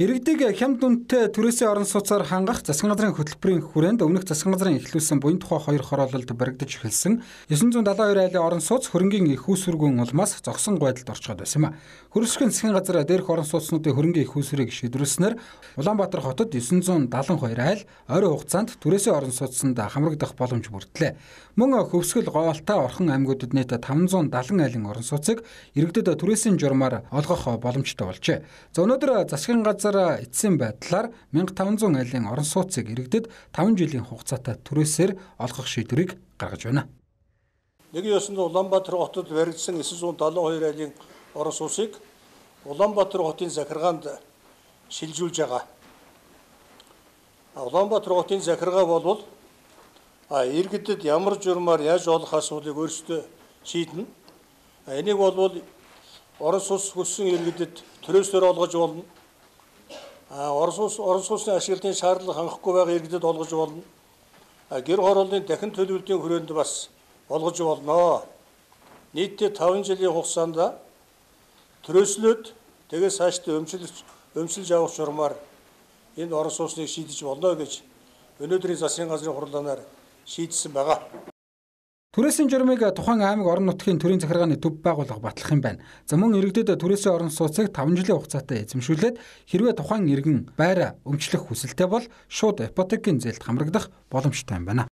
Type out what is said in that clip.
Иргэдэг хямд үнэтэй түрээсийн орон сууцаар хангах засгийн газрын хөтөлбөрийн хүрээнд өмнөх засгийн газрын эхлүүлсэн буян тухай 2 хороололд баригдаж эхэлсэн 972 айлын орон сууц хөрөнгийн их үүсвэргүйн улмаас зогсон байдалд орчход байсан юм а. Хөрвөсгийн засгийн газар дээрх орон сууцнуудын хөрөнгийн их үүсвэрийг шийдвэрлснээр Улаанбаатар хотод 972 айл ойрын хугацаанд түрээсийн орон сууцнд хамрагдах боломж бүрдлээ. Мөн Хөвсгөл, Гоолтай, Орхон аймагуудад нийт 570 айлын орон сууцыг иргэдэд түрээсийн журмаар олгох боломжтой болжээ. За өнөөдөр засгийн газар эцсийн байдлаар 1500 айлын орон сууцыг иргэдэд 5 жилийн хугацаатай түрээсээр олгох шийдвэрийг гаргаж байна. Нэгэн ёсонд Улаанбаатар хотод баригдсан 972 айлын орон сууцыг Улаанбаатар хотын захиргаанд шилжүүлж байгаа. Улаанбаатар хотын захиргаа болвол иргэдэд ямар журмаар яаж олох асуудлыг өөрсдөө шийднэ. Энийг болвол орон сууц хүссэн иргэдэд түрээсээр олгож болно. Орон сууцны ашиглалтын шаардлага хангахгүй байгаа иргэдэд олгож болно. Гэр хорооллын дахин төлөвлөлтийн хүрээнд бас олгож болно. Нийтдээ 5 жилийн хугацаанд түрээслээд тэгээс цаашдаа өмчилж авах журмаар энэ орон сууцныг шийдэж болно гэж өнөөдрийн засгийн газрын хурлаанаар шийдсэн байгаа. Түрээсийн журмыг тухайн аймаг орон нутгийн төрийн захиргааны төв байгууллага батлах юм байна. За мөн иргэдэд түрээсийн орон сууцыг 5 жилийн хугацаатай эзэмшүүлээд хэрвээ тухайн иргэн байр өмчлөх хүсэлтэй бол шууд ипотекийн зээлд хамрагдах боломжтой юм байна.